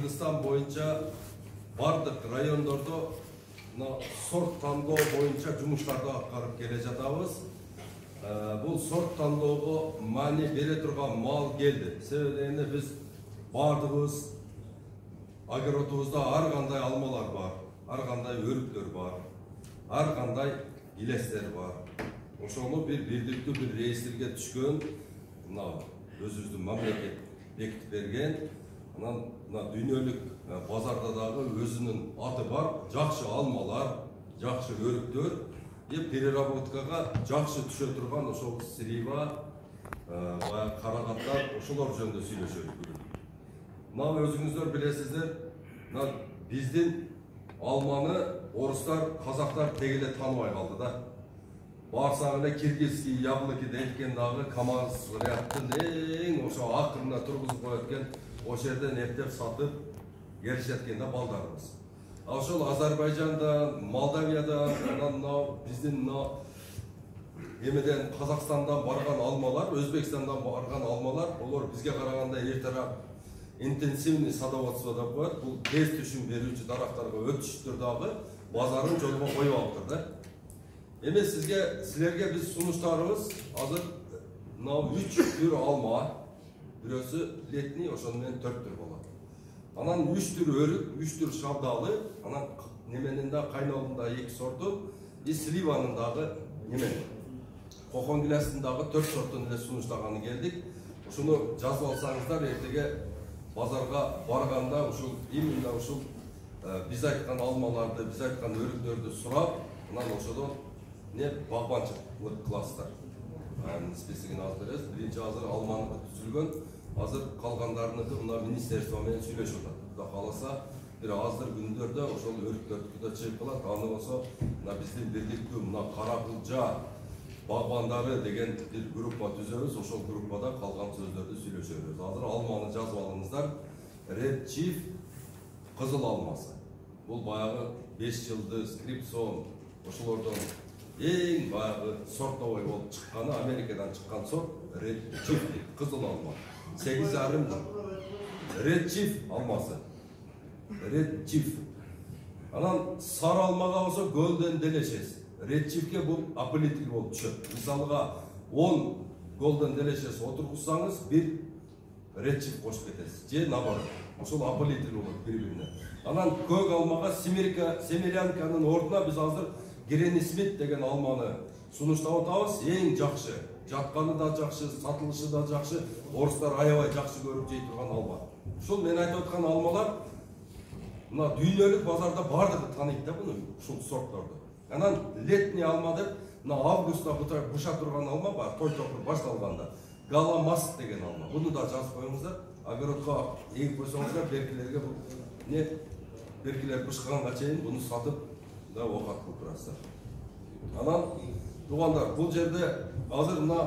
Кыргызстан боюнча бардык райондордо сорт тандоо боюнча жумуштарды аткарып келе жатабыз. Бул сорт тандоого маани бере турган мал келди. Себеби биз бардыгыбыз огородубузда ар кандай алмалар бар, ар кандай өрүктөр бар, ар кандай илестер бар. Ошону бирдиктүү бир реестрге түшкөн, өзүбүздүн мамлекет бекитип берген, анан дүйнөлүк базарда дагы өзүнүн аты бар, жакшы алмалар, жакшы өрүктөр, переработкага жакшы түшө турган ошол срива, карагаттар, ошолор жөнүндө сүйлөшөбүз. Өзүңүздөр билесиздер, биздин алманы орустар, казактар тегеле тааныбай калды да. Барсак эле киргизский яблоки дейткен дагы КамАЗ рядтын эң ошо акырына тургузуп коет экен, ошол жерден эптеп сатып келишет экен да балдарыбыз. Ошол Азербайжанда, Молдавияда, биздин эмеден Казакстандан барган алмалар, Өзбекстандан барган алмалар, олар бизге караганда эртерээк интенсивный садоводство деп коет. Бул тез түшүм берүүчү дарактарга өтүштүр дагы базарын жолго коюп алыптыр да. Эми силерге биз сунуштарыбыз азыр 3 түр алма, бирөөсү летний, ошону менен 4 түр болот. Анан 3 түр өрүк, 3 түр шабдалы, анан неменин да кайнолунда 2 сорту, сливанын дагы кокон гилястын дагы 4 сортун эле сунуштаганы келдик. Ушуну жазып алсаңыздар, эртеге базарга барганда ушул именно ушул биз айткан алмаларды, биз айткан өрүктөрдү сурап, анан ошодон багбанчылык кыласыздар. Списигин азыр беребиз. Биринчи азыр алманы түзүлгөн, азыр калгандарыныкы мына министерство менен сүйлөшүп атат. Кудай кааласа, бир азыр күндөрдө ошол өрүктөрдүкү да чыгып калат. Аны болсо биздин бирдиктүү мына Каракылжа багбандары деген бир группа түзөбүз. Ошол группада калган сөздөрдү сүйлөшөбүз. Азыр алманы жазып алыңыздар. Red Chief кызыл алмасы. Бул баягы 5 жылды скрипсон ошолордон эң баягы сортовой болуп чыкканы, Америкадан чыккан сорт Red Chief кызыл алма. 8,5 Red Chief алмасы. Red Chief. Анан сары алмага болсо Golden Delicious. Red Chief'ке бул аполитил болуп түшөт. Мисалга 10 Golden Delicious отургузсаңыз, бир Red Chief кошуп кетесиз. Же наоборот. Ошол аполитил болот бири-бирине. Анан көк алмага семерянканын ордуна биз азыр Гренни Смит деген алманы сунуштап атабыз. Эң жакшы, жатканы да жакшы, сатылышы да жакшы, орустар аябай жакшы көрүп жей турган алма. Ушул мен айтып аткан алмалар мына дүйнөлүк базарда бардыгы тааныйт да буну, ушул сортторду. Анан летний алма деп, мына августта буша турган алма бар, той топур башталганда. Галамас деген алма. Буну да жазып коюңуздар. Огородко эгип койсоңуздар, беркилерге бул беркилер бышканга чейин буну сатып окат кылып турасыздар. Анан туугандар, бул жерде азыр мына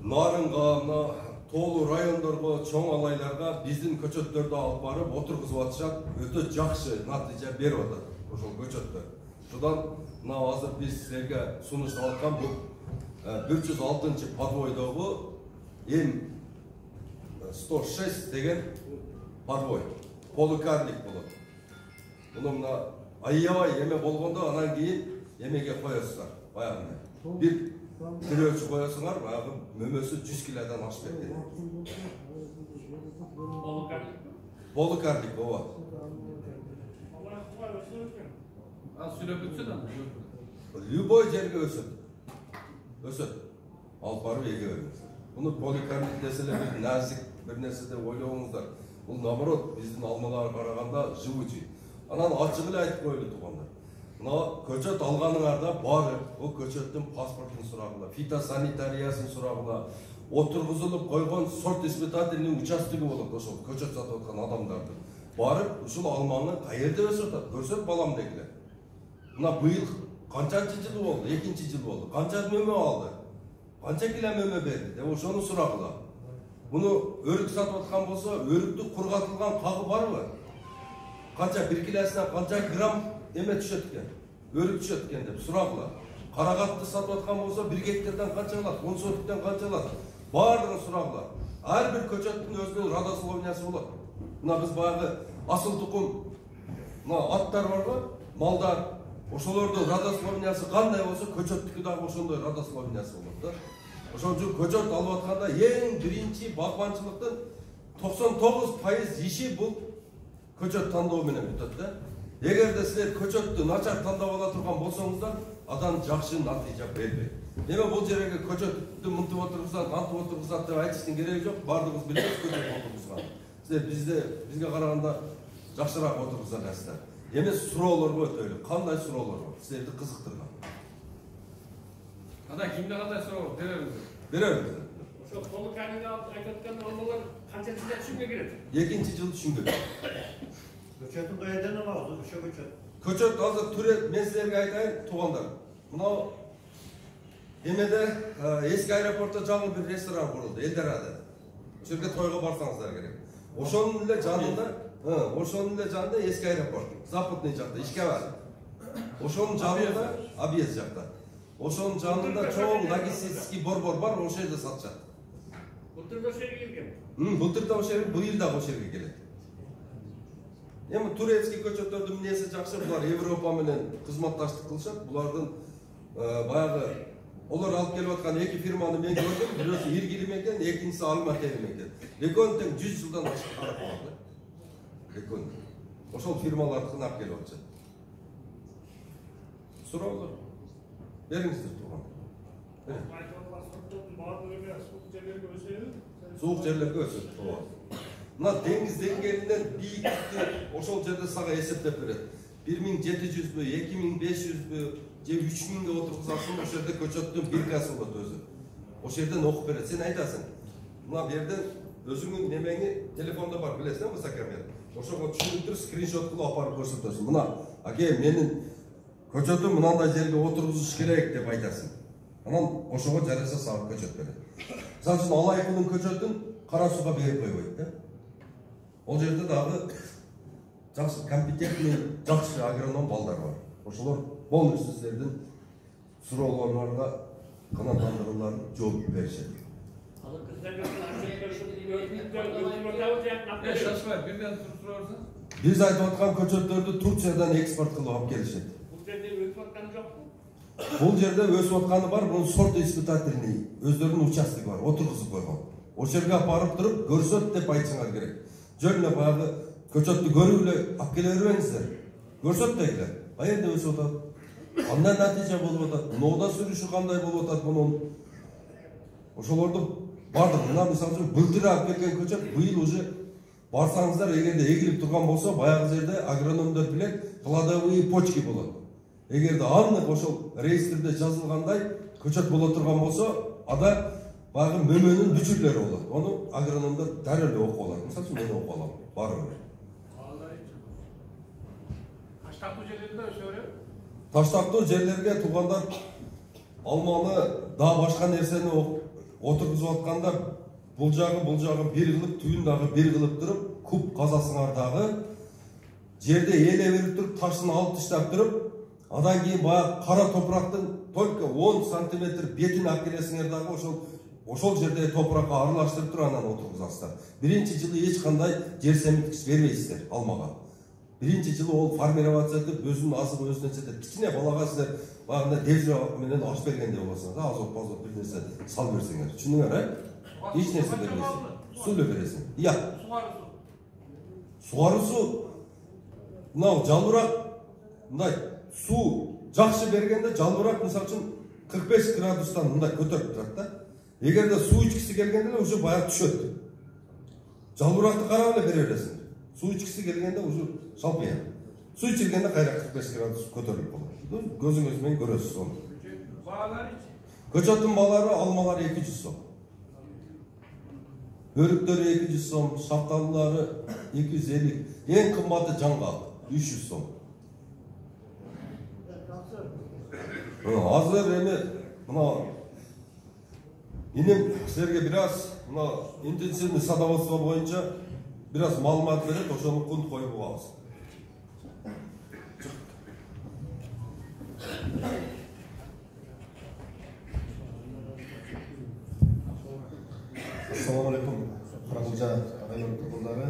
Нарынга, мына тоолуу райондорго, чоң алайларга биздин көчөттөрдү алып барып отургузуп атышат, өтө жакшы натыйжа берип атат ошол көчөттөр. Шудан мына азыр биз силерге сунуштап аткан бул 106 подвойдогу М106 деген подвой, полукарлик болот. Муну мына аябай эме болгондо анан кийин эмеге коесуздар, баягы бир тирөөчү коесуңар, баягы мөмөсү 100 килодон ашып кеткен. Полукарлик, ооба. Сүйлөп өтсө да? Любой жерге өсөт. Алып барып эге бериңиз. Буну полукарлик деселер бир назик бир нерсе деп ойлобоңуздар. Бул наоборот биздин алмаларга караганда живучий. Анан ачык эле айтып коелу туугандар. Мына көчөт алганыңарда баары бул көчөттүн паспортун сурагыла, фитосанитариясын сурагыла, отургузулуп койгон сорт испытательный участогы болот ошол көчөт сатып аткан адамдардын. Барып ушул алманы каерде өсүп атат, көрсөт балам дегиле. Мына быйыл канчанчы жыл болду, 2-чи жыл болду. Канча мөмө алды? Канча кило мөмө берди деп ошону сурагыла. Буну өрүк сатып аткан болсо, өрүктү кургатылган кагы барбы? Канча 1 килосуна канча грамм эме түшөт экен? Өрүк түшөт экен деп сурагыла. Карагатты сатып аткан болсо 1 гектардан канча алат? 10 соттуктан канча алат? Баардыгын сурагыла. Ар бир көчөттүн өзүнүн родословнясы болот. Мына биз баягы асыл тукум мына аттар барбы, малдар, ошолордун родословнясы кандай болсо, көчөттүкү дагы ошондой родословнясы болот да. Ошон үчүн көчөт алып атканда эң биринчи багбанчылыктын 99% иши бул көчөт тандоо менен бүтөт да. Эгерде силер көчөттү начар тандап ала турган болсоңуздар, адан жакшы натыйжа бербейт. Эме бул жерге көчөттү мынтып отургузат, антып отургузат деп айтыштын кереги жок. Бардыгыбыз билебиз көчөт отургузган. Силер бизге караганда жакшыраак отургуза аласыздар. Эме суроолорго өтөлү. Кандай суроолор бар? Силерди кызыктырган. Ада кимде кандай суроо беребиз? Беребиз. Ошо толук кайныңда айтып аткан нормалар канча жылда түшүнгө кирет? 2-жыл түшүнгө. Көчөтүн кайдан алабыз? Ошо көчөт. Көчөт азыр түрөт, мен силерге айтайын, туугандар. Мынау эмеде эски аэропортто жаңы бир ресторан курулду, Элдорадо. Ошол жерге тойго барсаңыздар керек. Ошонун эле жанында, эски аэропорт, западный жакта, ишке бар. Ошонун жанында, объезд жакта. Ошонун жанында чоң логистический борбор бар, ошол жерде сатышат. Былтыр да ошол жерге келген. Былтыр да ошол жерге, быйыл да ошол жерге келет. Эми турецкий көчөттөрдүн эмнеси жакшы, булар Европа менен кызматташтык кылышат. Булардын баягы олар алып келип аткан эки фирманы мен көрдүм. Бирөөсү Иргилим экен, экинчиси Алматем экен. Экөөнү тең 100 жылдан ашык карап калды. Экөөнү. Ошол фирмалардыкын алып келип атышат. Суроолор бериңиздер тууган. Суук жерлерге өсөт. Мына деңиз деңгээлинен бийиктикти ошол жерде сага эсептеп берет. 1700бү, 2500бү, же 3000ге отургузасың, ошол жерде көчөттүн биркасы болот өзү. Ошол жерден окуп берет. Сен айтасың. Мына бу жерден өзүңүн немеңи телефондо бар, билесиң, высокомер. Ошого түшүрүп скриншот кылып алып көрсөтөсүң. Мына, аке, менин көчөтүм мынандай жерге отургузуш керек деп айтасың. Анан ошого жараша сага көчөт берет. Мисалы үчүн Алайкулдун көчөтүн кара сууга берип койбойт да. Ол жерде дагы жакшы компетентный, жакшы агроном балдар бар. Ошолор полностью силердин суроолоруңарга канааттандырууларын жооп беришет. Биз айтып аткан көчөттөрдү Турциядан экспорт кылып алып келишет. Бул жерде өсүп атканы бар, бул сорт испытательный, өздөрүнүн участогу бар, отургузуп койгон. Ошол жерге апарып туруп көрсөт деп айтсаңар керек. Жөн эле баягы көчөттү көрүп эле алып келе бербеңиздер. Көрсөт дегилер. Каерде өсүп атат? Кандай натыйжа болуп атат? Ноуда сүрүшү кандай болуп атат мунун? Ошолорду бардык. Мына мисалы үчүн былтыр алып келген көчөт быйыл уже барсаңыздар, эгерде эгилип турган болсо, баягы жерде агрономдор билет, кладовые почки болот. Эгерде аннык ошол реестрде жазылгандай көчөт боло турган болсо, ада баягы мөмөнүн бүчүрлөрү болот. Ону агрономдор дароо эле окуп алат. Мисалы үчүн мен окуп алам. Барып. Таштактуу жерлерде өсөрү. Таштактуу жерлерге туугандар алманы да башка нерсени отургузуп атканда бул жагы бир кылып, түйүн дагы бир кылып туруп, куб казасыңар дагы жерде эле берип туруп, ташын алып таштап туруп, андан кийин баягы кара топурактын только 10 сантиметр бетин алып келесиңер дагы ошол жерде топуракка аралаштырып туруп анан отургузасыздар. Биринчи жылы эч кандай жер семиткич бербейсиздер алмага. Биринчи жылы ол формироваться этип, өзүнүн азыгы өзүнө жетет. Кичине балага силер баягындай девжа менен аш бергендей болосуңар да, азот бир нерсе сал берсеңер. Түшүндүңөр, эч нерсе бербейсиң. Суу эле бересиң. Ия. Сугаруусу мына жалбырак мындай суу жакшы бергенде жалбырак мисалы үчүн 45 градустан мындай көтөрүп турат да. Эгерде суу ичкиси келгенде уже баягы түшөт. Жалбыракты карап эле бере бересиң. Суу ичкиси келгенде уже шалпыя. Суу ичилгенде кайра 45 градус көтөрүлүп калат. Көзүңүз менен көрөсүз аны. Көчөттүн баалары, алмалары 200 сом. Өрүктөрү 200 сом, шапталылары 250. Эң кымбаты жаңгак 300 сом. Азыр эми мына инем силерге бир аз мына интенсивный садоводство боюнча бир аз маалымат берет, ошону кунт коюп алабыз. Ассаламу алейкум. Каракулжа районунун тургундары.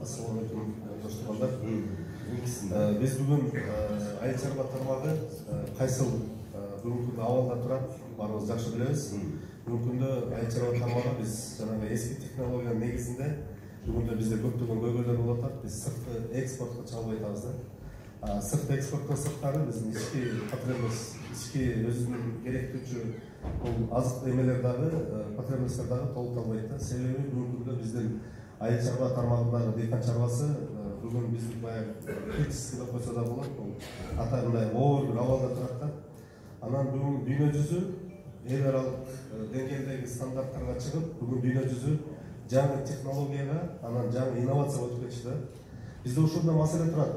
Ассаламу Assalamualaikum досторlar. Биз бүгүн айыл чарба тармагы кайсыл бүгүнкү күндө абалда турат, баарыбыз жакшы билебиз. Бүгүнкү күндө айыл чарба тармагы биз жанагы эски технологиянын негизинде бүгүндө бизде көптөгөн көйгөйлөр болуп атат. Биз сырткы экспортко чыга албай атабыз да. Сырткы экспорттон сырткары биздин ички потребность, ички өзүнүн керектүүчү бул азык эмелер дагы, потребностьтер дагы толукталбайт да. Себеби бүгүнкү күндө биздин айыл чарба тармагындагы дыйкан чарбасы бүгүн биздин баягы критический деп койсо да болот. Бул атайындай оор бир абалда турат да. Анан бүгүн дүйнө жүзү эл аралык деңгээлдеги стандарттарга чыгып, бүгүн дүйнө жүзү жаңы технологияга, анан жаңы инновацияга өтүп кетишти да. Бизде ушундай маселе турат.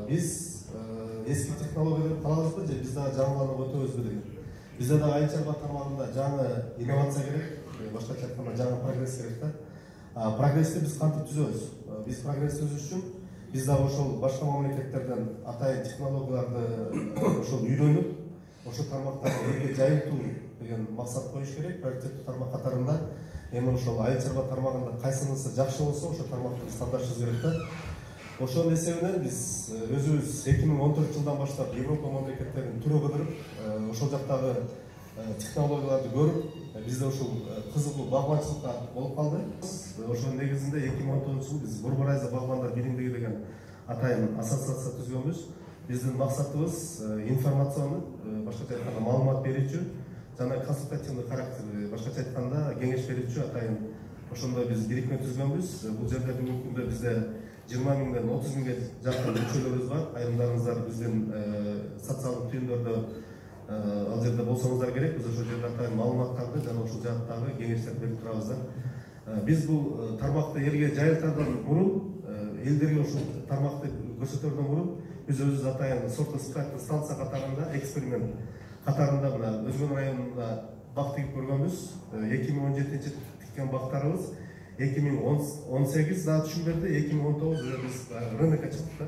Биз эски технологияларды калабызбы же биз дагы жаңыланып өтөбүзбү деген. Бизде дагы айыл чарба тармагында жаңы инновация керек, башкача айтканда жаңы прогресс керек да. Прогрессти биз кантип түзөбүз? Биз прогрессти түзүш үчүн биз дагы ошол башка мамлекеттерден атайын технологияларды ошол үйрөнүп, ошол тармактарды элге жайылтуу деген максат коюш керек. Приоритеттүү тармак катарында эми ошол айыл чарба тармагында кайсынысы жакшы болсо, ошол тармакты биз тандашыбыз керек да. Ошонун эсебинен биз өзүбүз 2014 жылдан баштап Европа мамлекеттерин түрө кыдырып, ошол жактагы технологияларды көрүп, бизде ушул кызыгуу багбанчылыкка болуп калды. Ошонун негизинде 2019 жылы биз Бурбарайза багбандар биримдиги деген атайын ассоциация түзгөнбүз. Биздин максатыбыз информациондук, башкача айтканда маалымат берүүчү жана консультативдик характер, башкача айтканда кеңеш берүүчү атайын ошондой биз бирикме түзгөнбүз. Бул жерде бүгүнкү күндө бизде 20 миңден 30 миңге жакын мүчөлөрүбүз бар. Айрымдарыңыздар биздин социалдык түйүндөрдө ал жерде болсоңуздар керек. Биз ошол жерде атайын маалыматтарды жана ошол жааттагы кеңештерди берип турабыз да. Биз бул тармакты элге жайылтардан мурун, элдерге ошол тармакты көрсөтөрдөн мурун биз өзүбүз атайын сорто-испытательный станция катарында, эксперимент катарында мына Өзгөн районунда бак тигип көргөнбүз. 2017 тиккен бактарыбыз 2018 да түшүм берди, 2019 биз рынокко чыктык да.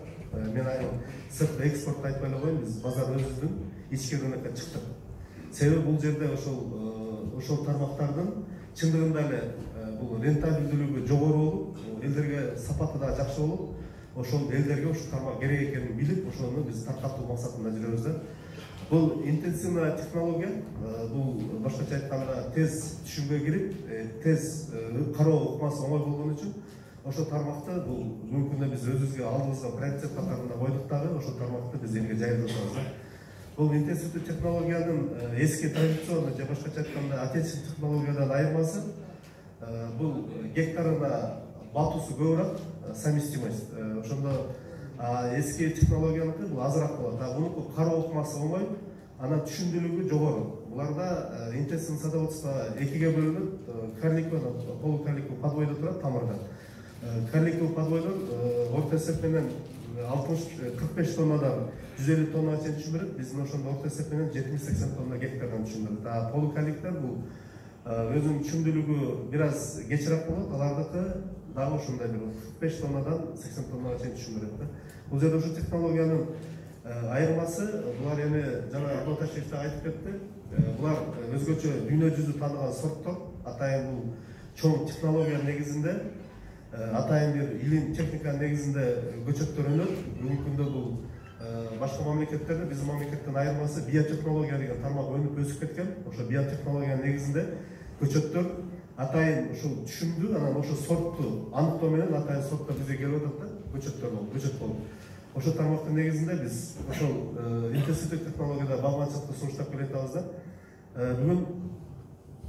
Мен айыл сырткы экспорт айтпай эле коеюн, биз базар өзүбүздүн ички рынокко чыктык. Себеби бул жерде ошол тармактардын чындыгында эле бул рентабелдүүлүгү жогору болуп, элдерге сапаты да жакшы болуп, ошол элдерге ушул тармак керек экенин билип, ошону биз таркатуу максатында жүрөбүз да. Бул интенсивный технология, бул башкача айтканда тез түшүмгө кирип, тез кароо ыкмасы оңой болгон үчүн ошол тармакты бул бүгүнкү күндө биз өзүбүзгө алдыбызга приоритет катарында койдук дагы, ошол тармакты биз элге жайылтып атабыз да. Бул интенсивдүү технологиянын эски традиционный же башкача айтканда отечественный технологиядан айырмасы бул гектарына батуусу көбүрөөк, совместимость. Ошондо эски технологияныкы бул азыраак болот. Бунуку кароо ыкмасы оңой, анан түшүмдүүлүгү жогору. Буларда интенсивный садоводство экиге бөлүнүп, карликовый, полукарликовый подвойдо турат тамырда. Карликовый подвойдон орто эсеп менен 45 тоннадан 150 тоннага чейин түшүм берет. Биздин ошондо орто эсеп менен 70-80 тонна гектардан түшүм берет. Полукарликтер бул өзүнүн түшүмдүүлүгү бир аз кечирээк болот. Алардыкы дагы ошондой бир 45 тоннадан 80 тоннага чейин түшүм берет да. Бул жерде ушул технологиянын айырмасы, булар эми жана Абдулташев да айтып кетти. Булар өзгөчө дүйнө жүзү тааныган сорттор, атайын бул чоң технология негизинде, атайын бир илим техниканын негизинде көчөттөр өнөт. Бүгүнкү күндө бул башка мамлекеттерде биздин мамлекеттен айырмасы биотехнология деген тармак өнүп өсүп кеткен. Ошо биотехнологиянын негизинде көчөттөр атайын ушул түшүмдүү, анан ошо сортту аныктоо менен атайын сорттор бизге келип атат да, көчөттөр болуп, көчөт болуп. Ошол тармактын негизинде биз ошол интенсивдүү технологияда багбанчылыкты сунуштап келе жатабыз да. Бүгүн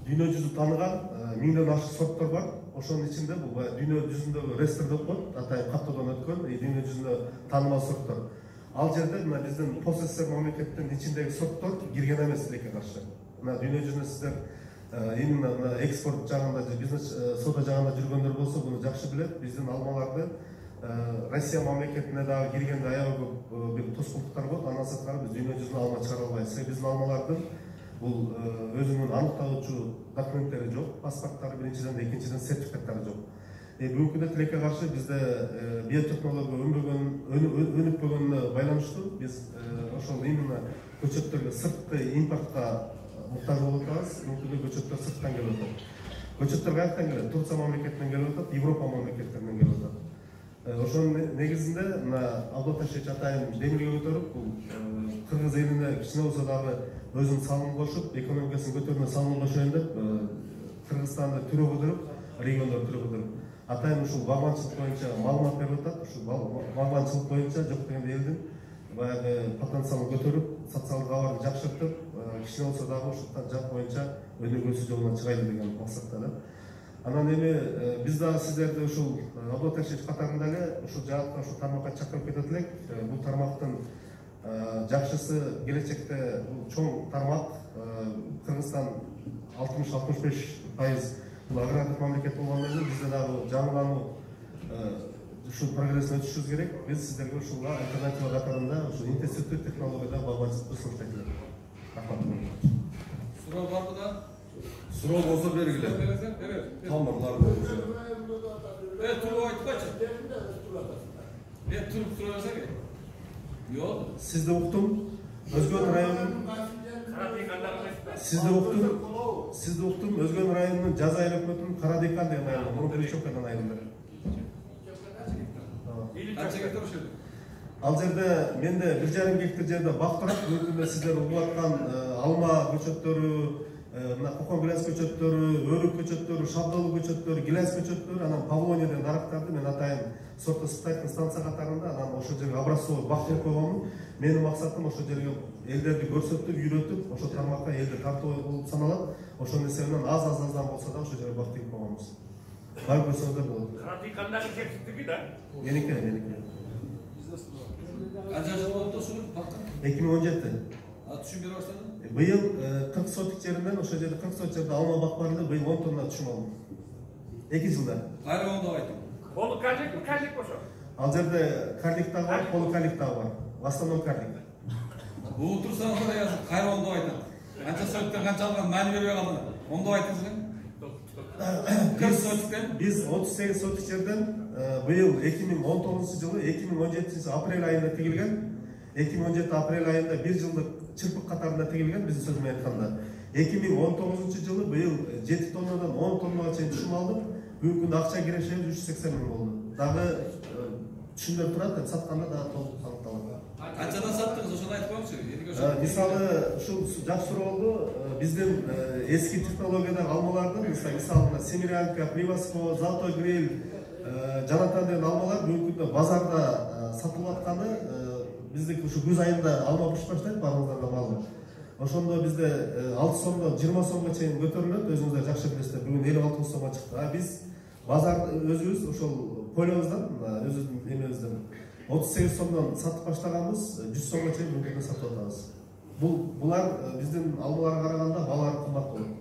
дүйнө жүзү тааныган 1000ден ашык сорттор бар. Ошонун ичинде бул дүйнө жүзүндөгү рестр деп коет, атайын каттоодон өткөн дүйнө жүзүндө таанымал сорттор. Ал жерде мына биздин пост СССР мамлекеттин ичиндеги сорттор кирген эмес тилекке каршы. Мына дүйнө жүзүнө сиздер именно экспорт жагында, бизнес соода жагында жүргөндөр болсо, буну жакшы билет. Биздин алмаларды Россия мамлекетине дагы киргенде аябай көп бир тоскоолдуктар болот. Андан сырткары биз дүйнө жүзүнө алма чыгара албайбыз. Биздин алмалардын бул өзүнүн аныктоочу документтери жок, паспорттары биринчиден, экинчиден сертификаттары жок. Бүгүнкү күндө тилекке каршы бизде биотехнология өнүкпөгөнүнө байланыштуу биз ошол именно көчөттөргө сырткы импортко муктаж болуп атабыз. Бүгүнкү күндө көчөттөр сырттан келип атат. Көчөттөр каяктан келет? Турция мамлекетинен келип атат, Европа мамлекеттеринен келип атат. Ошонун негизинде мына Абдул Ташевич атайын демилге көтөрүп, бул кыргыз элине кичине болсо дагы өзүнүн салымын кошуп, экономикасын көтөрүүнө салымын кошоюн деп Кыргызстанды түрөгөдүрүп, региондор түрөгөдүрүп, атайын ушул багбанчылык боюнча маалымат берип атат. Ушул багбанчылык боюнча жок дегенде элдин баягы потенциалын көтөрүп, социалдык абалын жакшыртып, кичине болсо дагы ушул жак боюнча өнүгүүсү жолуна чыгайлы деген максатта да. Анан эми биз дагы сиздерди ушул Абдул Ташевич катарында эле ушул жаатка, ушул тармакка чакырып кетет элек. Бул тармактын жакшысы келечекте бул чоң тармак. Кыргызстан 60-65% бул агрардык мамлекет болгондон кийин бизде дагы жаңылануу ушул прогрессин өтүшүбүз керек. Биз сиздерге ушуга альтернатива катарында ушул интенсивдүү технологияда багбанчылыкты сунуштайт элек. Рахмат. Суроо барбы да? Суроо болсо бергиле. Тамырлар боюнча. Туруп айтпачы. Туруп суроо берсең. Жок. Сизди уктум. Өзгөн районунун Сизди уктум. Өзгөн районунун Жаза айыл өкмөтүнүн Кара Дыйкан деген айылы, мурунку Ичокадан айылында. Канча гектар ошол? Ал жерде менде 1,5 гектар жерде бак турат. Бүгүнкүндө сиздер угуп аткан алма көчөттөрү, мына кокон гиляс көчөттөрү, өрүк көчөттөрү, шабдалуу көчөттөрү, гиляс көчөттөрү, анан Павлония деген дарактарды мен атайын сортосуптайтын станция катарында, анан ошол жерге образцовый бак кылып койгонмун. Менин максатым ошол жерге элдерди көрсөтүп, үйрөтүп, ошол тармакка элди тартуу болуп саналат. Ошонун эсебинен аздан болсо да ошол жерге бак тигип койгонбуз. Барып көрсөңүздөр болот. Радикалдагы жетиштиги да. Меники. Канча жыл болуп ошол бакка? 2017. Түшүм бере баштадың? Быйыл 40 сотик жеринен ошол жерде 40 сотик жерде алма бак бар эле, быйыл 10 тонна түшүм алдым. 2 жылда. Кайра оңдоп айтып. Колу карлик ошо. Ал жерде карлик дагы бар, полукарлик дагы бар. В основном карлик. Бул турсаңыз да язып кайра оңдоп айтат. Канча соттон канча алган маани бербей калдыңар. Оңдоп айтыңыз эле. Биз 38 сотик жерден быйыл 2019 жылы 2017 апрель айында тигилген. 2017 апрель айында 1 жылдык чырпык катарында тигилген, биздин сөз менен айтканда. 2019 жылы быйыл 7 тоннадан 10 тоннага чейин түшүм алдым. Бүгүнкү күндө акча кирешеби 380 миң болду. Дагы түшүмдөр турат, сатканда дагы толук аныкталат. Канчадан саттыңыз, ошону айтып коюңузчу. Мисалы, ушул жакшы суроо болду. Биздин эски технологиядагы алмалардын, мисалы Семирянка, Приваско, Золотой Гриль, Жанатан деген алмалар бүгүнкү күндө базарда сатылып атканы биздики ушу күз айында алма пышып баштайт, баарыңыздар да маалым. Ошондо бизде 6 сомдон 20 сомго чейин көтөрүлөт, өзүңүздөр жакшы билесиздер. Бүгүн 56 сомго чыкты. Биз базар өзүбүз ошол полебуздан, өзүбүздүн эмебизден 38 сомдон сатып баштаганбыз, 100 сомго чейин бүгүнкү сатып атабыз. Булар биздин алмаларга караганда баалары кымбат болот.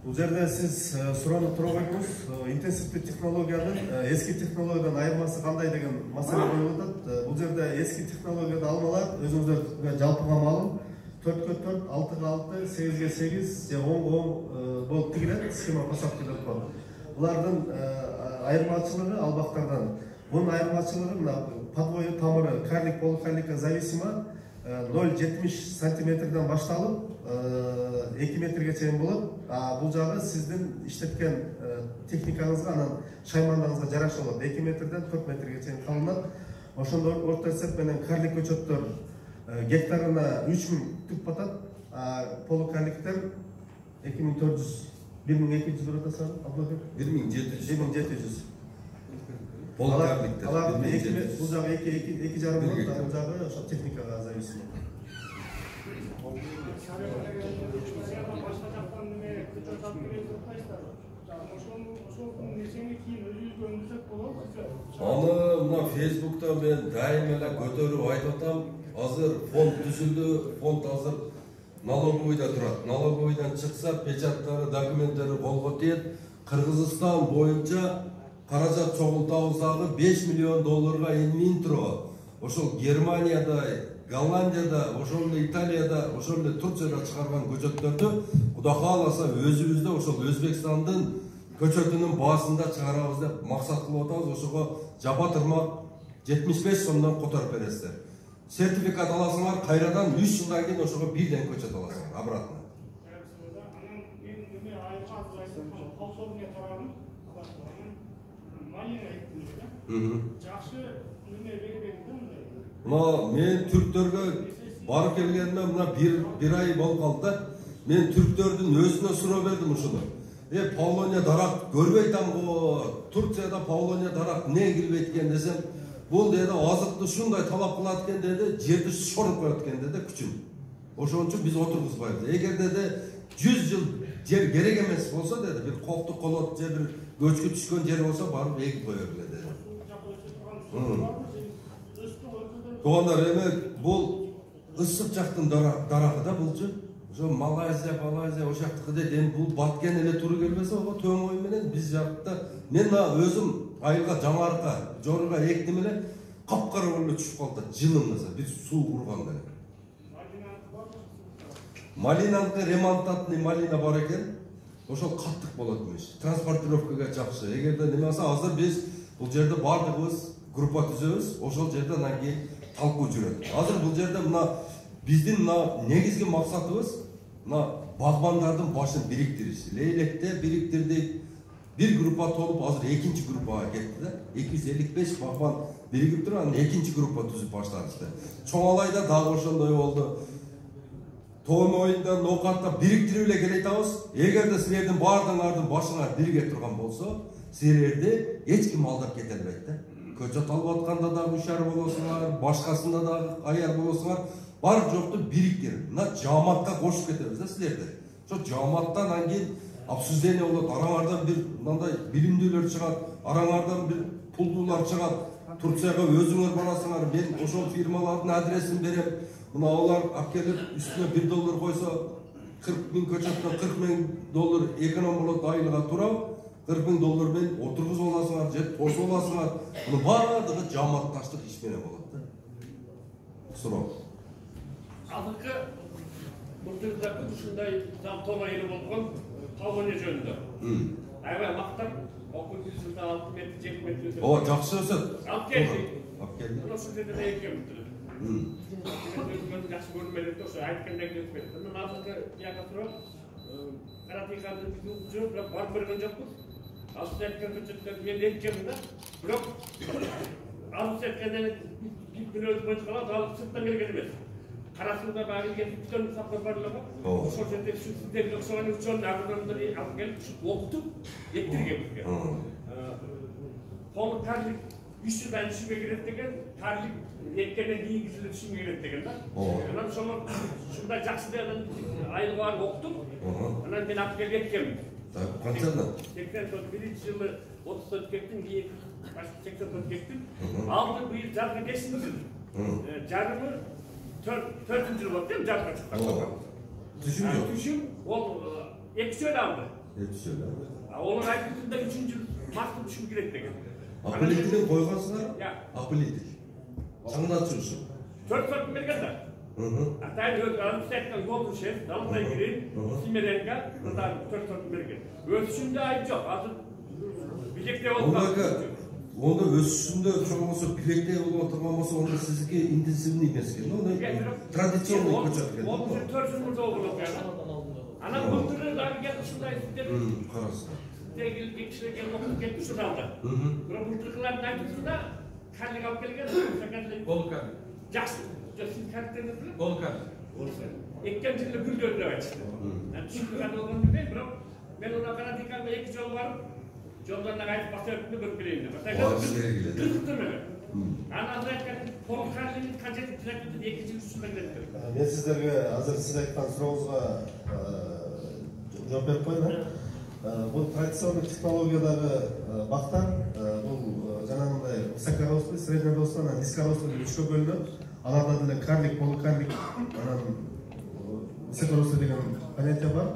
Бул жерде сиз суроону туруп койдуңуз. Интенсивдүү технологиянын эски технологиядан айырмасы кандай деген маселе коюлуп атат. Бул жерде эски технологияда алмалар өзүңүздөргө жалпыга маалым 4/4, 6/6, 8/8 же 10/10 болуп тигилет, схема посадки деп коет. Булардын айырмачылыгы ал бактардан. Бунун айырмачылыгы мына подвой тамыры карлик полукарликка зависимо 0,70 сантиметрден башталып 2 метрге чейин болот. Бул жагы сиздин иштеткен техникаңызга, анан шаймандагыңызга жараша болот. 2 метрден 4 метрге чейин калынат. Ошондо орто эсеп менен карлик көчөттөр гектарына 3000 түп батат. Полукарликтер 2400, 1200 болот аса, Абдулбек? 1700. Полукарликтер. Бул жагы 2,5 болот, бул жагы ошо техникага зависимо. Аны мына Facebook'та мен дайым эле көтөрүп айтып атам. Азыр фонд түзүлдү, фонд азыр налоговыйда турат. Налоговыйдан чыкса, печаттары, документтери колго тиет. Кыргызстан боюнча каражат чогултабыз дагы $5 миллион элмин турат. Ошол Германияда, Голландияда, ошол эле Италияда, ошол эле Турцияда чыгарган көчөттөрдү Кудай кааласа өзүбүздө ошол Өзбекстандын көчөтүнүн баасында чыгарабыз деп максат кылып атабыз. Ошого жапа тырмак 75 сомдон которуп бересиздер. Сертификат аласыңар, кайрадан 3 жылдан кийин ошого бирден көчөт аласыңар, обратно. Мына мен түрктөргө барып келгениме мына бир ай болуп калды да. Мен түрктөрдүн өзүнө суроо бердим ушуну. Павлония дарак көрбөй атамго, Турцияда Павлония дарак эмне килбейт экен десем, бул деди азыкты шундай талап кылат экен деди, жерди шоруп коет экен деди күчүн. Ошон үчүн биз отургузбайбыз. Эгер деди 100 жыл жер керек эмес болсо деди, бир коктук колот же бир көчкү түшкөн жер болсо барып эгип коёр эле деди. Туугандар, эми бул ысык жактын дарагы да булчу. Ошо Малайзия, ошол жактыкы дейт. Эми бул баткен эле туру келбесе, ого төң ой менен биз жакта мен өзүм айылга жаңарка, жорга эктим эле, капкара болуп түшүп калды жылымыза. Биз суу курганда. Малинаныкы ремонтатный малина бар экен. Ошол каттык болот эмес. Транспортировкага жакшы. Эгерде неме болсо, азыр биз бул жерде бардыгыбыз группа түзөбүз. Ошол жерде анан кийин талкуу жүрөт. Азыр бул жерде мына биздин мына негизги максатыбыз мына багбандардын башын бириктириш. Лейлекте бириктирдик. Bir группа толуп, азыр экинчи группага кетти да. 255 багбан биригип туруп, анан экинчи группа түзүп баштадык. Чоңалайда дагы ошондой болду. Тоон оюнда, Ноокатта бириктирип эле келе атабыз. Эгерде силердин баардыгыңардын башыңар бирге турган болсо, силерди эч ким алдап кете албайт да. Көчөт алып атканда дагы ушар болосуңар, башкасында дагы аяр болосуңар, бар жокту бириктирип, мына жааматка кошуп кетебиз да силерди. Ошо жааматтан анан кийин обсуждение болот, араңардан бир мындай билимдүүлөр чыгат, араңардан бир пулдуулар чыгат. Турцияга өзүңөр барасыңар, мен ошол фирмалардын адресин берем. Мына алар алып келип үстүнө $1 койсо, 40 000 көчөттөн $40 000 эконом болот айылга турап, $40 000 менен отургузуп аласыңар, же кошуп аласыңар. Муну баардыгы жааматташтык иш менен болот да. Суроо. Азыркы муртузда ушундай тома эле болгон Павлония жөнүндө. Аябай мактап, окуп жылда 6 метр, 7 метр. Ооба, жакшы өсөт. Алып келдик. Алып келдик. Ошол жерде экенбиз. Жакшы көрмөлүк ошо айткандай өтпөйт. Мен азыркы жака туруп, каратыканы биз жүрүп, бирок барып көргөн жокпуз. Азыр айткан көчөттөр мен экенмин да. Бирок азыр айткандан бир өзү боюнча калат, ал сырттан келген эмес. Карасында багы келип бүтөн сапар барлыгы. Ошол жерде сиздерге окшогон үчөн агрономдор алып келип окутуп эттирген бизге. Толук карлик 3 жылдан ишиге кирет деген, карлик эккенден кийин кишилер ишиге кирет деген да. Анан ошол ушундай жакшы деген айылга барып окутуп, анан мен алып келип эткенмин. Канчадан? 81 жылы 34 кеттим, кийин 84 кеттим. Алды быйыл жазга 5-жыл. Жарымы 4 жыл болду деп жазга чыккан. Түшүм ол 2 жыл алды. 2 жыл. Onun aykırısında 3. mahkum düşüm gerek деген. Apelitini koygansınlar? Ya. Apelitik. Çanına çırsın. 4 merkezde. Hatta öz alıp yoldu şef, dalına girin, simerenga, buradan 4 merkez. Ölçüsünde ayıp yok. Azı bilekte oldu. Onda ölçüsünde çok olsa bilekte olmaması onda sizdeki intensivliği emas ekan. Onda tradisyonel ko'chat. Onun 4 yılda oldu yani. Ana bulduğunu da geldi şundaydı. Qarasın. Tegil kişiler gelip okuyup gitti şurada. Bura bulduğuların aydısında kallik alıp gelgen. Volkan. Jackson. Jackson karakterini bilir. Volkan. Ekken cilde gül gördü açtı. Yani çünkü kadar olduğunu değil bro. Ben ona karadikalda 2 yol var. Yollarına gayet basıyordum görüp bileyim. Kırıktım öyle. Anadolu'ya Volkan'ın kaçet trafikte 2 yıl üstüne gidelim. Ben sizlerge hazır siz aytқан сурооңузга жооп берип коеюн. Бул традиционный технологиядагы бактар бул жанагындай высокорослый, среднерослый, анан низкорослый деп 3кө бөлүнөт. Аларда деле карлик, полукарлик, анан высокорослый деген понятие бар.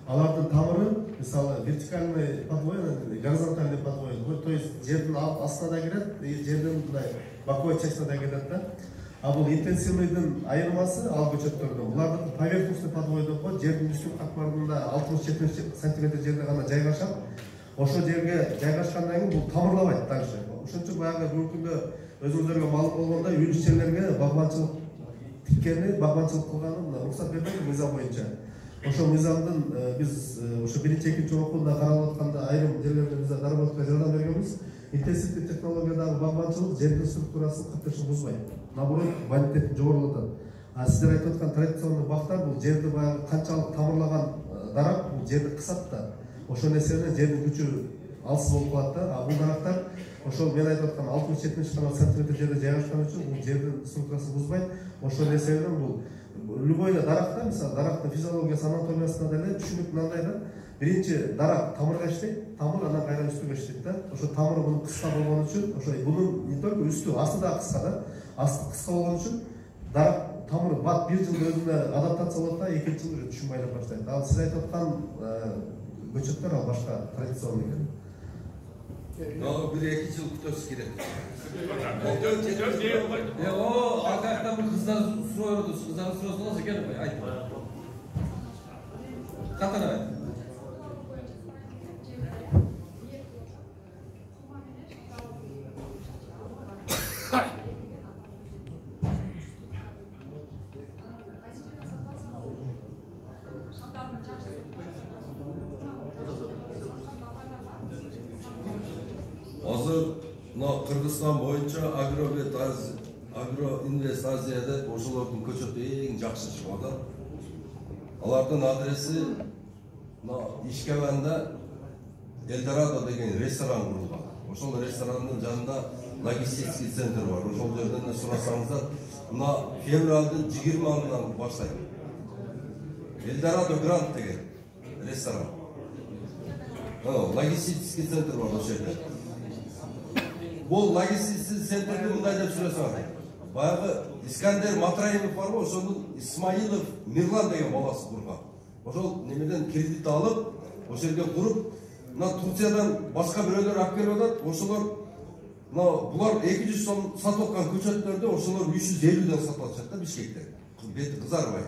Алардын тамыры, мисалы, вертикальный подвой, горизонтальный подвой, то есть жердин астына да кирет, жердин мындай боковой частына да кирет да. А бул интенсивныйдын айырмасы ал көчөттөрдө. Булардын поверхностный подвой деп коет, жердин үстүн катмарында 60-70 см жерде гана жайгашат. ошол жерге жайгашкандан кийин бул тамырлабайт дальше. Ошон үчүн баягы бүгүнкү күндө өзүңүздөргө маалым болгондой үлүш жерлерге багбанчылык тиккени, багбанчылык кылганы уруксат берилген мыйзам боюнча. Ошол мыйзамдын биз ошо 1-2 окууда каралып атканда айрым жерлерде биз доработкага жардам бергенбиз. Интенсивдүү технологиядагы багбанчылык жердин структурасын каттешин бузбайт. Наоборот, бонитетин жогорулатат. А сиздер айтып аткан традиционный бактар бул жерди баягы канчалык тамырлаган дарак бул жерди кысат да. Ошол нерсени жердин күчү алсыз болуп калат да. А бул дарактар ошол мен айтып аткан 60-70 сантиметр жерде жайгашкан үчүн бул жердин структурасын бузбайт. Ошол нерседен бул любой даракта, мисалы дарактын физиологиясы, анатомиясына деле түшүнүк мындай да. Биринчи дарак тамырга иштейт, тамыр анан кайра үстүгө иштейт да. Ошо тамыры мунун кыска болгон үчүн, ошо бунун не только үстү, асты да кыска да. Асты кыска болгон үчүн дарак тамыр бат 1 жыл өзүнө адаптация болот да, 2 жыл уже түшүн байлап баштайт. Ал сиз айтып аткан көчөттөр ал башка традиционный экен. Дагы 1-2 жыл күтөбүз керек. О, акаяктан бир кыздар суроо берди. Кыздардын суроосун алса экен, айт. Катар айт. Азыр Кыргызстан боюнча Агроинвест Азияда ошолордун көчөтү эң жакшы чыгып атат. Алардын адреси Ишкебанда Эльдорадо деген ресторан курулган. Ошол ресторанын жанында логистический центр бар. Ошол жерден сурасаңыздар, февралдын 20-ынан баштайт. Эльдорадо Гранд деген ресторан. Логистический центр бар ошол жерде. Бул логистический центрди мындай деп сүрөсөң. Баягы Искандер Матраимов бар го, ошонун Исмаилов Мирлан деген баласы курган. Ошол немеден кредит алып, ошол жерге куруп, Турциядан башка бирөөлөр алып келип атат. Ошолор булар 200 сом сатып аткан көчөттөрдү ошолор 350ден сатып атышат да Бишкекте. Бети кызарбай.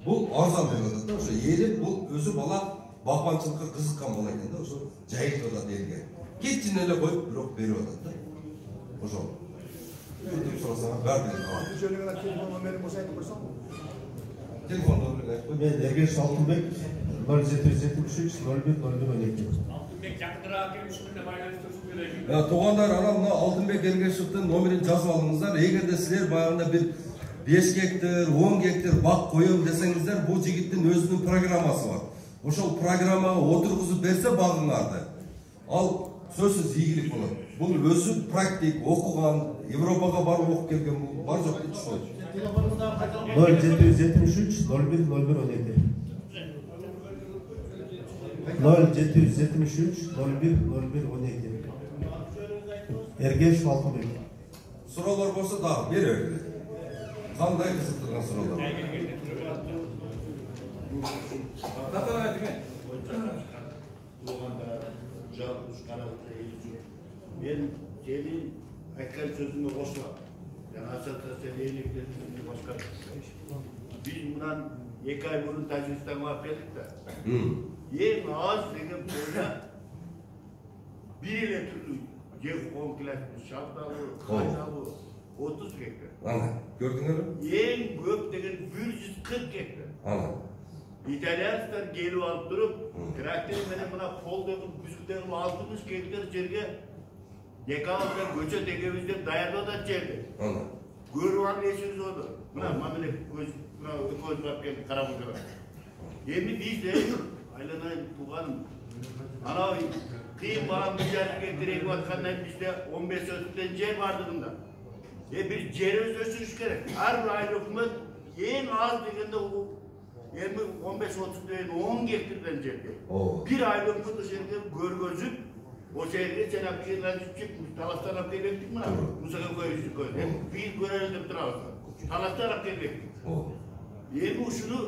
Бул арзан деп атат да. Ошо ээли бул өзү бала багбанчылыкка кызыккан бала экен да, ошо жайып атат элге. Кетчин эле коюп бирок берип атат да. Ошол. Өтүп сурасаң, баары бир. Жөнүгө телефон номерин болсо айтып койсоң. Телефон номерин айтып кой. Мен Эргеш Алтынбек 0773 0102. Алтынбек жакыныраак келип ушуна байланыштырып берейин. Туугандар, анан Алтынбек Эргешевдин номерин жазып алыңыздар. Эгерде силер баягында бир 5 гектар, 10 гектар бак коем десеңиздер, бул жигиттин өзүнүн программасы бар. Ошол программага отургузуп берсе багыңарды, ал сөзсүз ийгилик болот. Бул өзү практик, окуган, Европага барып окуп келген, бар жок деп түшүнөт. 0773 0102. 0773 0102. Эргеш Алтынбек. Суроолор болсо дагы беребиз. Кандай кызыктырган суроолор? Катар айт экен. Мен сенин айткан сөзүңө кошулам. Жана ассоциация электирүүнү башкар. Биз мындан 2 ай мурун Тажикстанга барып келдик да. Эң аз деген бойда бир эле түрлүү жер комплексти шабдалы, кайналы 30 гектар. Ана, көрдүңөрбү? Эң көп деген 140 гектар. Ана. Итальянцдар келип алып туруп, трактор менен мына полдогу бүзүктөрү 60 гектар жерге декабрда көчөт эгебиз деп даярдап жерди. Ана. Көрүп алып эсиңиз болду. Мына мамиле көз барып келди карап отуруп. Эми биз айланайын тууганым. Анау кыйын балам жарык гектар эгип аткандан бизде 15 сотуктан жер бардыгында. Бир жерибиз өсүрүш керек. Ар бир айыл өкмөт эң аз дегенде 15-30 10 гектардан жерге. Бир айыл өкмөт ошол жерге көргөзүп, ошол жерге жанагы кыйынчылык талаштан алып келбектик мына. Мусага коюштук. Биз көрөлү деп турабыз. Талаштан алып келбектик. Эми ушуну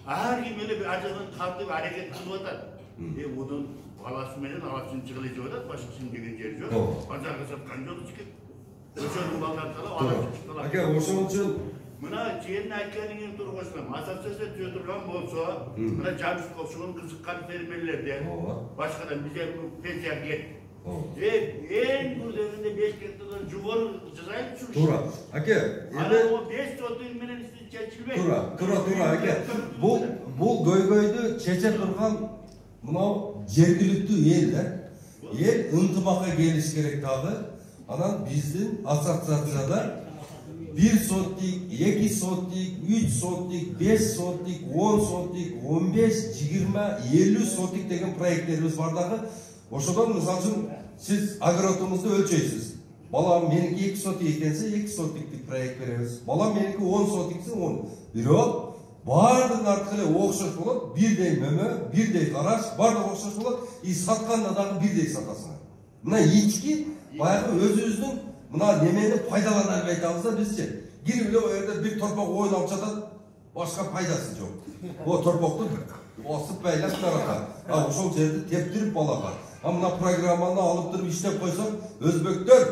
ар ким эле ар жактан тартып аракет кылып атат. Мунун баласы менен аласын чыгылы жеп атат, башкасын деген жери жок. Базарга саткан жок экен. Ошонун балдары талап алып чыктылар. Ака, ошон үчүн Мына жерин айтканыңын тургузсам, ассоциация түзө турган болсо, мына жабыш кошугун кызыккан фермерлерде, башкадан бизе пенсия кет. Эң күрделүүнү 5 гектардан жогору жасайбыз. Туура. Аке, эми 5 соток менен чечилбейт. Туура, аке. Бул көйгөйдү чече турган мынау жергиликтүү эл да. Эл ынтымакка келиш керек дагы. Анан биздин ассоциацияда 1 сотик, 2 сотик, 3 сотик, 5 сотик, 10 сотик, 15, 20, 50 сотик деген проекттерибиз бар дагы. Ошодон мисалы үчүн сиз огородуңузду өлчөйсүз. Балам меники 2 сотик экенсе 2 сотиктик проект беребиз. Балам меники 10 сотиксе 10. Бирок бардыгын арткы эле окшош болот. Бирдей мөмө, бирдей караш, бардыгы окшош болот. И сатканда дагы бирдей сатасың. Мына ички баягы өзүбүздүн мына немени пайдалана албай атабыз да бизчи. Кирип эле о жерде бир торпок ойнап жатат, башка пайдасы жок. О торпокту басып байлап тарата. Ошол жерди тептирип балага. Мына программаны алып туруп иштеп койсок, өзбектөр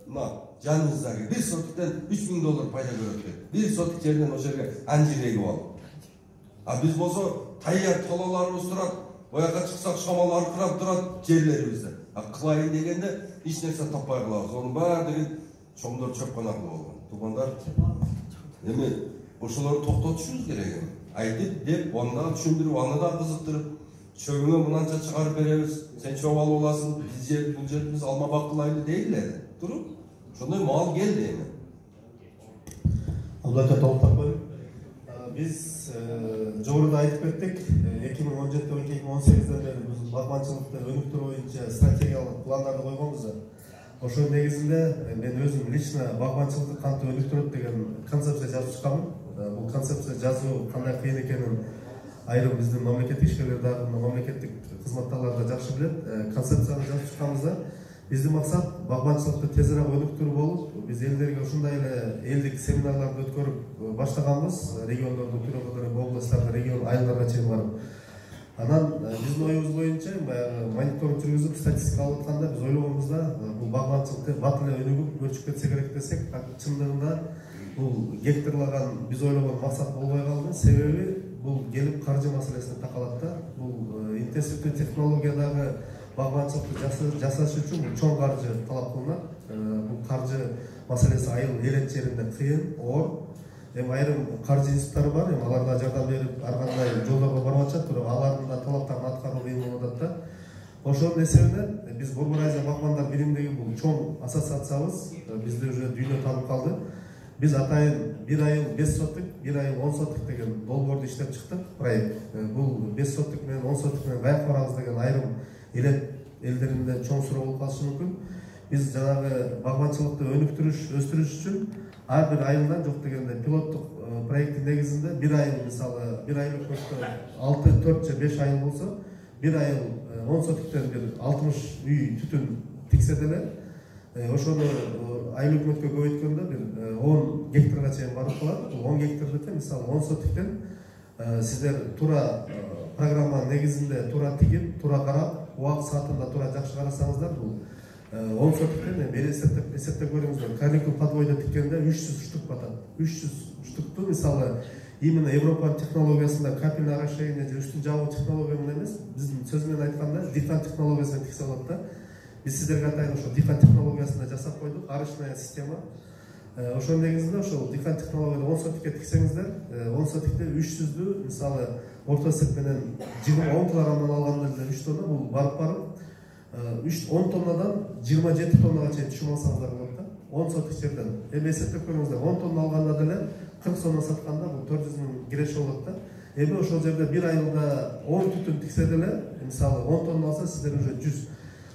мына жаныбыздагы 1 сотиктен $3000 пайда көрөт экен. 1 сотик жерден ошол жерге анжир эгип алып. Биз болсо таяр талаларыбыз турат, бояка чыксак шамал аркырап турат жерлерибизде. Кылайын дегенде эч нерсе таппай калабыз. Онун баардыгы чоңдор чөп кана кылып алган. Туугандар, эми ошолорду токтотушубуз керек. Айтып деп, аны да түшүндүрүп, аны да кызыктырып, чөгүңө мынанча чыгарып беребиз, сен чөп алып аласың, биз жер, бул жерибиз алма бакылайлы дейдилер. Туруп, ошондой мал келди эми. Абдулла толуктап коеюн. Биз жогоруда айтып кеттик, 2017-2018 бери биз багбанчылыкты өнүктүрүү боюнча стратегиялык пландарды койгонбуз. Ошол негизинде мен өзүм лично багбанчылыкты кантип өнүктүрөт деген концепция жазып чыкканмын. Бул концепция жазуу кандай кыйын экенин айрым биздин мамлекеттик ишкерлер дагы, мамлекеттик кызматтагылар да жакшы билет. Концепцияны жазып чыкканбызда биздин максат багбанчылыкты тезирээк өнүктүрүү болуп, биз элдерге ушундай эле элдик семинарларды өткөрүп баштаганбыз. Региондорду түрөп, областтарда, регион айылдарга чейин барып. Анан биздин оюбуз боюнча баягы мониторинг жүргүзүп, статистика алып атканда биз ойлогонбуз да, бул багбанчылыкты бат эле өнүгүп, өрчүп кетсе керек десек, чындыгында бул гектарлаган биз ойлогон максат болбой калды. Себеби бул келип каржы маселесине такалат да. Бул интенсивдүү технологиядагы багбанчылыкты жасаш үчүн бул чоң каржы талап кылынат. Бул каржы маселеси айыл элет жеринде кыйын, оор. Эми айрым каржы институттары бар, эми аларга жардам берип, ар кандай жолдорго барып атышат, бирок алардын да талаптарын аткаруу кыйын болуп атат да. Ошонун эсебинен биз Борбор Азия багбандар биримдиги бул чоң ассоциациябыз бизде уже дүйнө таанып калды. Биз атайын 1 айыл 5 сотик, 1 айыл 10 сотик деген долбоорду иштеп чыктык, проект. Бул 5 сотик менен 10 сотик менен каяк барабыз деген айрым элет элдеринде чоң суроо болуп калышы мүмкүн. Биз жанагы багбанчылыкты өнүктүрүш, өстүрүш үчүн ар бир айылдан жок дегенде пилоттук проекттин негизинде 1 айыл, мисалы 1 айыл өкмөттө 6, 4 же 5 айыл болсо, 1 айыл 10 сотиктен бир 60 үй түтүн тиксе деле, ошону айыл өкмөткө көбөйткөндө бир 10 гектарга чейин барып калат. Бул 10 гектардыкы мисалы 10 сотиктен сиздер туура программанын негизинде туура тигип, туура карап, убак саатында туура жакшы карасаңыздар, бул 10 сотиктен бери эсептеп көрүңүздөр. Карликтүү подвойдо тиккенде 300 штук батат. 300 штукту мисалы именно Европанын технологиясында капельное орошение же үстүн жабуу технология менен эмес, биздин сөз менен айтканда дифан технологиясына тиксе болот да. Биз сиздерге атайын ошо дифан технологиясында жасап койдук, арычная система. Ошонун негизинде ошол дифан технологияда 10 сотикке тиксеңиздер, 10 сотикте 300дү мисалы орто эсеп менен 20 килограммдан алганда 3 тонна бул барып 10 тоннадан 27 тоннага чейин түшүп алсаңыздар болот да. 10 сотик жерден. Эми эсептеп көрүңүздөр, 10 тонна алганда деле 40 сомдон сатканда бул 400 миң киреше болот да. Эми ошол жерде 1 айылда 10 түтүн тиксе деле, мисалы 10 тонна алса сиздер уже 100.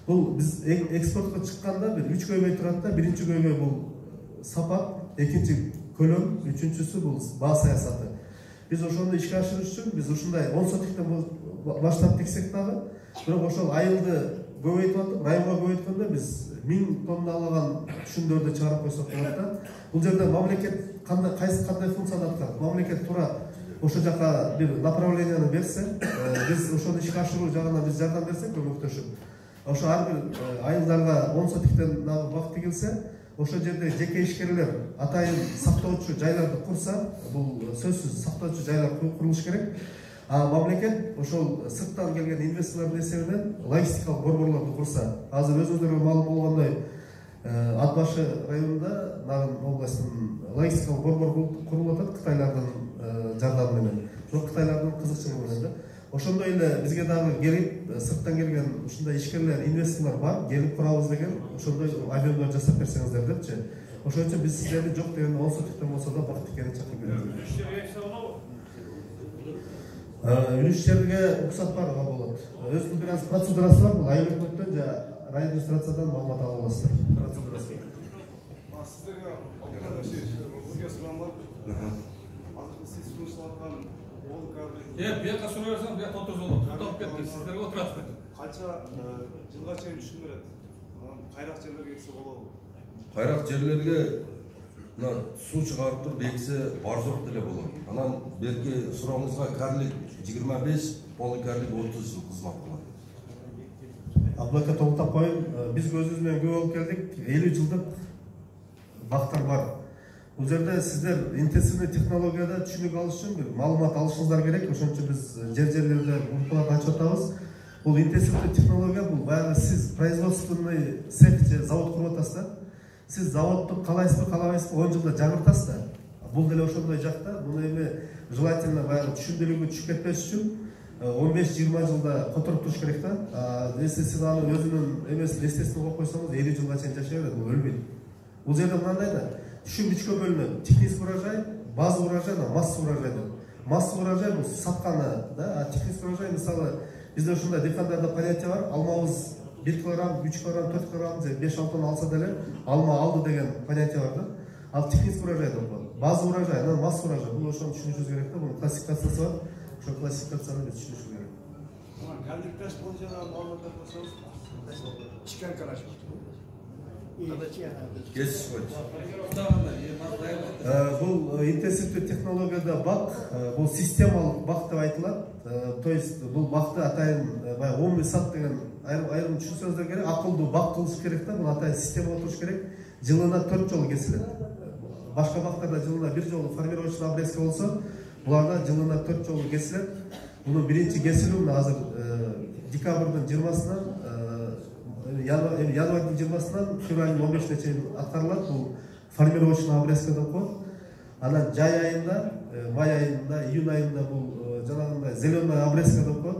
Бул биз экспортко чыкканда бир 3 көйгөй турат да. Биринчи көйгөй бул сапат, экинчи көлөм, үчүнчүсү бул баа саясаты. Биз ошону ишке ашырыш үчүн биз ушундай 10 сотиктен баштап тиксек дагы, бирок ошол айылды көбөйтүп атып, районго көбөйткөндө биз 1000 тонналаган түшүмдөрдү чыгарып койсок болот да. Бул жерде мамлекет кандай функцияны аткарат? Мамлекет туура ошол жака бир направленияны берсе, биз ошону ишке ашыруу жагынан биз жардам берсек, көмөктөшүп, ошо ар бир айылдарга 10 сотиктен бак тигилсе, ошол жерде жеке ишкерлер атайын сактоочу жайларды курса, бул сөзсүз сактоочу жайлар курулуш керек. Мамлекет ошол сырттан келген инвесторлордун эсебинен логистикалык борборлорду курса, азыр өзүңүздарга маалым болгондой Ат башы районунда Нарын областынын логистикалык борбор курулуп атат Кытайлардын жардамы менен. Ошол Кытайлардын кызыкчылыгы менен да. Ошондой эле бизге дагы келип сырттан келген ушундай ишкерлер, инвесторлор бар, келип курабыз деген ошондой объемдор жасап берсеңиздер депчи. Ошон үчүн биз сиздерди жок дегенде 10 сотуктан болсо да бакыт экени чакырып келебиз. Үлүшчерге уруксат бар болот. Өзүнүн бир аз процедурасы бар, бул айыл өкмөттөн же район администрациядан маалымат ала аласыздар. Процедурасы. Сиздерге бизге сурам бар. Азыр сиз сунуштап аткан ол кадр. Бияка сурай берсең, бияка отурсун болот. Токтоп кетти, сиздерге отурасыздар. Канча жылга чейин түшүм берет? Кайрак жерлерге эксе болобу? Кайрак жерлерге суу чыгарып туруп эксе бар жок деле болот. Анан берки сурооңузга карлик 25, поликарлик 30 жыл кызмат кылат. Абдулайка толуктап коеюн, биз көзүбүз менен күбө болуп келдик. 50 жылдык бактар бар. Бул жерде сиздер интенсивный технологияда түшүнүк алыш үчүн бир маалымат алышыңыздар керек. Ошон үчүн биз жерлерде группаларды ачып атабыз. Бул интенсивный технология, бул баягы сиз производственный цех же завод куруп атасыз да. Сиз заводду каалайсызбы, каалабайсызбы 10 жылда жаңыртасыз да. Бул деле ошондой жакта. Буну эми желательно баягы түшүндүрүүгө түшүп кетпеш үчүн 15-20 жылда которуп туруш керек да. Если сиз аны өзүнүн эмесин естественно коюп койсоңуз 50 жылга чейин жашай берет, бул өлбөйт. Бул жерде мындай да, түшүм үчкө бөлүнөт. Технический урожай, базовый урожай, массовый урожай деп. Массовый урожай бул сатканы да, а технический урожай мисалы бизде ушундай дыйкандарда понятие бар. Алмабыз 1 килограмм, 3 килограмм, 4 килограмм, 5-6 тонна алса деле алма алды деген понятие бар да. Ал технический урожай деп коет. Базовый урожай, анан массовый урожай. Бул ошону түшүнүшүбүз керек да. Бунун классификациясы бар. Ошол классификацияны биз түшүнүшүбүз керек. Кандикташ боюнча да маалыматтар көрсөңүз, чикан караш. Кесип койчу. Бул интенсивдүү технологияда бак, бул системалык бак деп айтылат. То есть бул бакты атайын баягы умный сад деген айрым түшүнсөңүздөр керек. Акылдуу бак кылыш керек да, бул атайын система туруш керек. Жылына 4 жолу кесилет. Башка бактарда жылына 1 жолу формировочный обрезка болсо, буларда жылына 4 жолу кесилет. Мунун биринчи кесилүү азыр декабрдын 20-сынан январьдын 20-сынан февралдын 15-ине чейин аткарылат. Бул формировочный обрезка деп коет. Анан жай айында, май айында, июнь айында бул жанагындай зеленый обрезка деп коет.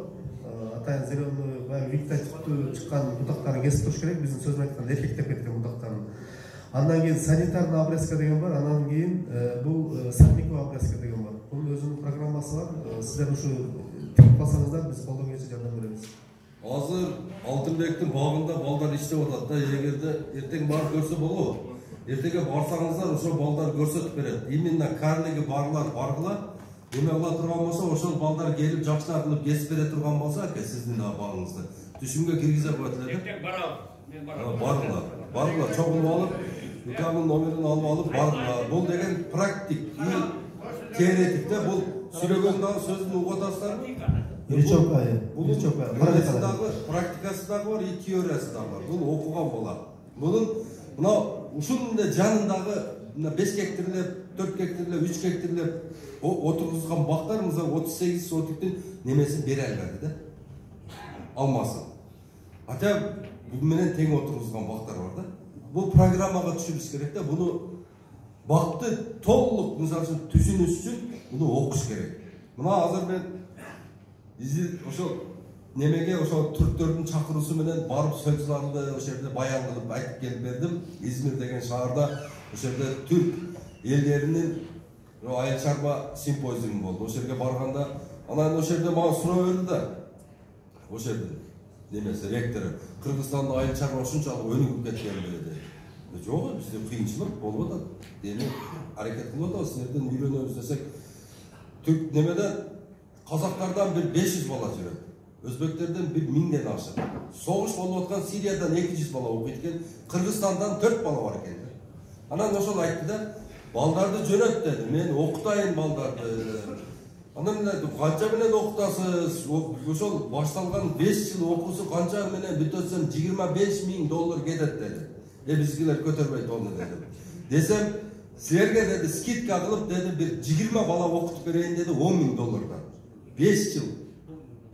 Атайын зеленый баягы вегетативдүү чыккан бутактарын кесип туруш керек. Биздин сөз менен айтканда эркектеп кеткен бутактарын. Андан кийин санитарный обрезка деген бар. Андан кийин бул сорняковый обрезка деген бар. Бунун өзүнүн программасы бар. Сиздер ушу тигип калсаңыздар, биз колдон келишинче жардам беребиз. Азыр Алтынбектин багында балдар иштеп атат да. Эгерде эртең барып көрсө болобу? Эртеге барсаңыздар, ошол балдар көрсөтүп берет. Именно карлиги барлар баргыла, эме кыла турган болсо, ошол балдар келип жакшылап кылып кесип бере турган болсо, сиздин багыңызды түшүмгө киргизе коет эле да. Эртең барабыз. Баргыла, чогулуп алып, УКМдын номерин алып алып баргыла. Бул деген практик, теоретик да, бул сүйлөгөн дагы сөздүн угуп атасыздарбы? Практикасы дагы бар, теориясы дагы бар. Бул окуган болот. Мунун мына ушунун жанындагы 5 гектарлеп, 4 гектарлеп, 3 гектарлеп отургузган бактар мына 38 сотиктин немесин бере албады да. Алмасын. Ата бул менен тең отургузган бактар бар да. Бул программага түшүрүш керек да. Буну бакты толук мисалы үчүн түшүнүш үчүн буну окуш керек. Мына азыр мен ошол немеге ошол түрктөрдүн чакыруусу менен барып сөзларды ошол жерде баян кылып айтып келип бердим. Измир деген шаарда ошол жерде түрк элдеринин айыл чарба симпозиуму болду. Ошол жерге барганда анан ошол жерде мага суроо берди да. Ошол жерде немеси ректору Кыргызстандын айыл чарба ушунчалык өнүгүп кеткенби деди. Жок, бизде кыйынчылык болуп атат. Эми аракет кылып атабыз, силерден үйрөнөбүз десек. Түрк немеден казактардан бир 500 бала жүрөт. Өзбектерден бир 1000ден ашык. Согуш болуп аткан Сириядан 200 бала окуйт экен, Кыргызстандан 4 бала бар экен. Анан ошол айтты да, балдарды жөнөт деди. Мен окутайын балдарды. Анан канча менен окутасыз? Ошол башталган 5 жыл окуусу канча менен бүтөсөм $25,000 кетет деди. Bizgiler kötürmeydi onu dedim. Desem, sizlerge dedi, skidka kılıp dedi, bir 20 bala okutup vereyim dedi, $10.000'dan. 5 yıl.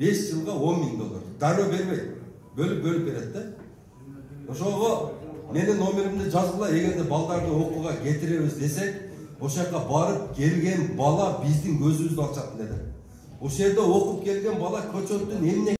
5 yılga $10.000. Darı vermeydi. Bölüp veredi de. Oşoğu, menin nomerimde жазgıla, egerde baldарды okuga getiremiz desek, oşaka barıp gelgen bala bizdin gözümüzdü alçak dedi. O şerde okup gelgen bala köçöttün emine